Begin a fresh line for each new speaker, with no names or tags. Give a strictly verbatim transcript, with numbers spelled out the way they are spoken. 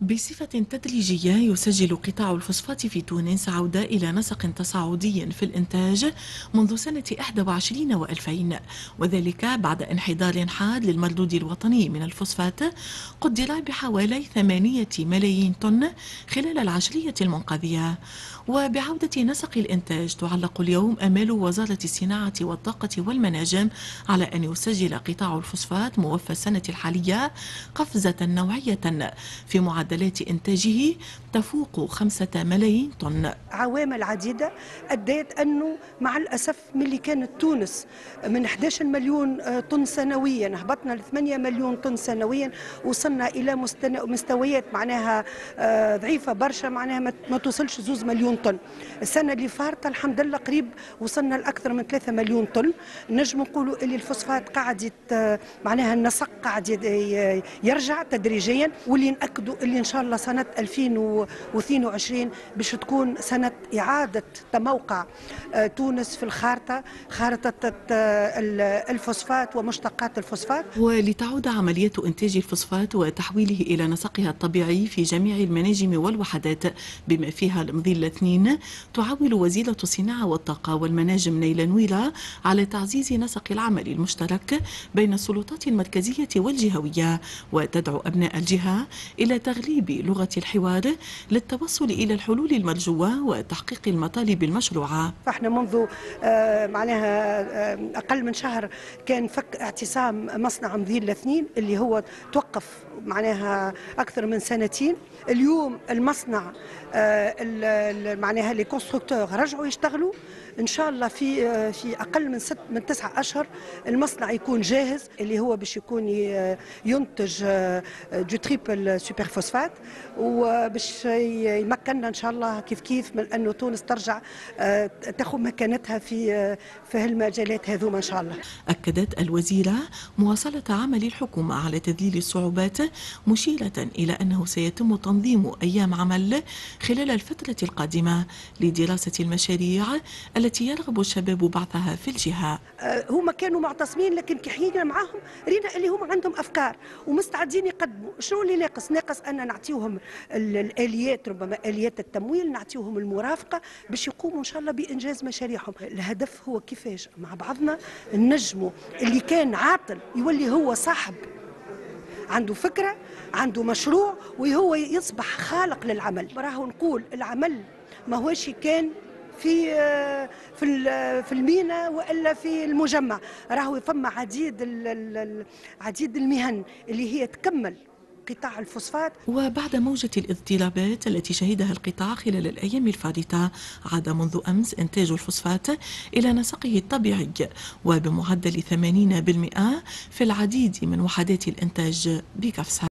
بصفة تدريجية يسجل قطاع الفوسفات في تونس عودة إلى نسق تصاعدي في الإنتاج منذ سنة إحدى وعشرين وألفين، وذلك بعد انحدار حاد للمردود الوطني من الفوسفات قدر بحوالي ثمانية ملايين طن خلال العشرية المنقضية. وبعودة نسق الإنتاج تعلق اليوم أمال وزارة الصناعة والطاقة والمناجم على أن يسجل قطاع الفوسفات موفى السنة الحالية قفزة نوعية في معدلات إنتاجه تفوق خمسة ملايين طن.
عوامل عديدة أدت أنه مع الأسف من اللي كانت تونس من إحدى عشر مليون طن سنويا هبطنا ل ثمانية مليون طن سنويا، وصلنا إلى مستويات معناها ضعيفة برشا، معناها ما توصلش زوز مليون طن. السنة اللي فاتت الحمد لله قريب وصلنا لأكثر من ثلاثة مليون طن. نجم نقولوا اللي الفوسفات قاعد معناها النسق قاعد يرجع تدريجيا، واللي نأكدوا اللي إن شاء الله سنة ألفين واثنين وعشرين باش تكون سنة إعادة تموقع تونس في الخارطة، خارطة الفوسفات ومشتقات الفوسفات.
ولتعود عملية إنتاج الفوسفات وتحويله إلى نسقها الطبيعي في جميع المناجم والوحدات بما فيها المظيلة اثنين، تعول وزيرة الصناعة والطاقة والمناجم نيلة نويرة على تعزيز نسق العمل المشترك بين السلطات المركزية والجهوية، وتدعو أبناء الجهة إلى تغليب لغة الحوار للتوصل إلى الحلول المرجوة وتحقيق المطالب المشروعة.
فاحنا منذ معناها أقل من شهر كان فك اعتصام مصنع مظيلة اثنين اللي هو توقف معناها أكثر من سنتين. اليوم المصنع معناها les constructeurs رجعوا يشتغلوا، ان شاء الله في في اقل من ست من تسعة اشهر المصنع يكون جاهز، اللي هو باش يكون ينتج du triple superphosphate، وباش يمكننا ان شاء الله كيف كيف من انه تونس ترجع تاخذ مكانتها في في هالمجالات هذوما ان شاء الله.
اكدت الوزيرة مواصلة عمل الحكومة على تذليل الصعوبات، مشيره الى انه سيتم تنظيم ايام عمل خلال الفترة القادمة لدراسة المشاريع التي يرغب الشباب بعثها في الجهة.
هما كانوا معتصمين، لكن كي حكينا معاهم رينا اللي هما عندهم أفكار ومستعدين يقدموا. شنو اللي ناقص؟ ناقص أن نعطيهم الآليات، ربما آليات التمويل، نعطيهم المرافقة باش يقوموا إن شاء الله بإنجاز مشاريعهم. الهدف هو كيفاش مع بعضنا نجموا اللي كان عاطل يولي هو صاحب، عنده فكرة، عنده مشروع، وهو يصبح خالق للعمل. راهو نقول العمل ما هوش كان في في في المينا والا في المجمع، راهو فما عديد عديد المهن اللي هي تكمل قطاع الفوسفات.
وبعد موجة الاضطرابات التي شهدها القطاع خلال الأيام الفارطة، عاد منذ أمس إنتاج الفوسفات إلى نسقه الطبيعي وبمعدل ثمانين بالمئة في العديد من وحدات الإنتاج بقفصة.